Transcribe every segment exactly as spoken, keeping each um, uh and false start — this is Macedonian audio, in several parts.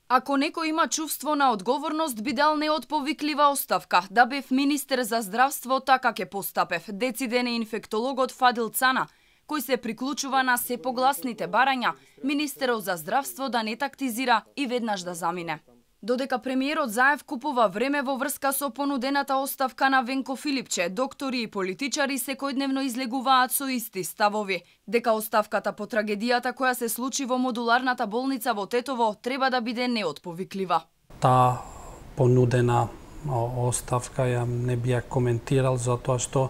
Ако некој има чувство на одговорност, би дал неотповиклива оставка. Да бев министер за здравство, така ке постапев. Дециден е инфектологот Фадил Цана, кој се приклучува на се погласните барања, министерот за здравство да не тактизира и веднаш да замине. Додека премиерот Заев купува време во врска со понудената оставка на Венко Филипче, доктори и политичари секојдневно излегуваат со исти ставови. Дека оставката по трагедијата која се случи во модуларната болница во Тетово треба да биде неотповиклива. Та понудена оставка ја не би ја коментирал, затоа што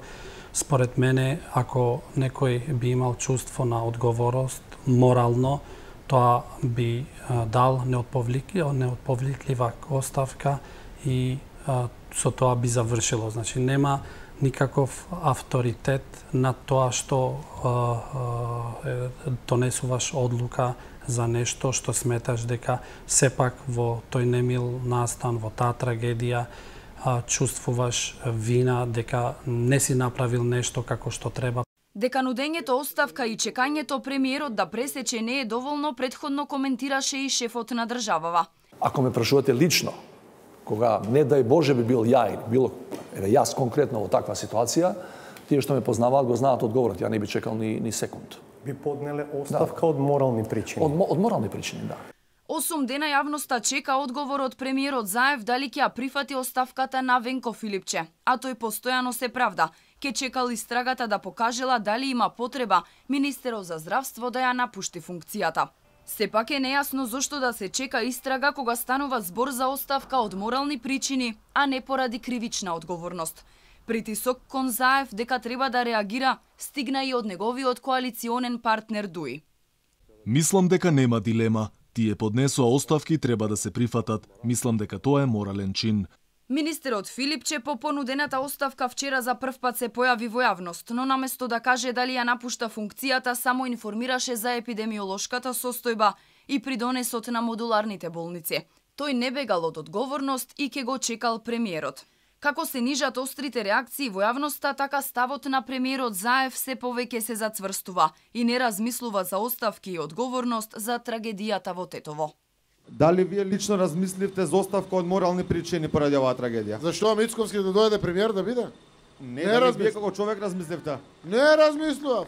според мене, ако некој би имал чувство на одговорност, морално, тоа би а, дал неотповиклива, неотповиклива оставка и а, со тоа би завршило. Значи, нема никаков авторитет на тоа што а, а, донесуваш одлука за нешто што сметаш дека сепак во тој немил настан, во таа трагедија, а, чувствуваш вина дека не си направил нешто како што треба. Дека нудењето оставка и чекањето премиерот да пресече не е доволно, претходно коментираше и шефот на државава. Ако ме прашувате лично, кога не дај Боже би бил ја или било еве јас конкретно во таква ситуација, тие што ме познаваат го знаат одговорот, ја не би чекал ни ни секунд. Би поднеле оставка да. од морални причини. Од, од морални причини, да. Осум дена јавноста чека одговор од премиерот Заев дали ќе ја прифати оставката на Венко Филипче, а тој постојано се правда. Ке чекал истрагата да покажела дали има потреба министерот за здравство да ја напушти функцијата. Сепак е нејасно зошто да се чека истрага кога станува збор за оставка од морални причини, а не поради кривична одговорност. Притисок кон Заев дека треба да реагира стигна и од неговиот коалиционен партнер Дуи. Мислам дека нема дилема. Тие поднесоа оставки треба да се прифатат. Мислам дека тоа е морален чин. Министерот Филипче по понудената оставка вчера за прв пат се појави во јавност, но наместо да каже дали ја напушта функцијата, само информираше за епидемиолошката состојба и придонесот на модуларните болници. Тој не бегал од одговорност и ке го чекал премиерот. Како се нижат острите реакции во јавноста, така ставот на премиерот Заев се повеќе се зацврстува и не размислува за оставки и одговорност за трагедијата во Тетово. Дали вие лично размисливте за оставка од морални причини поради оваа трагедија? Зашто Мицковски да дојде премиер да биде? Не, не дали вие како човек размисливте? Не размислував.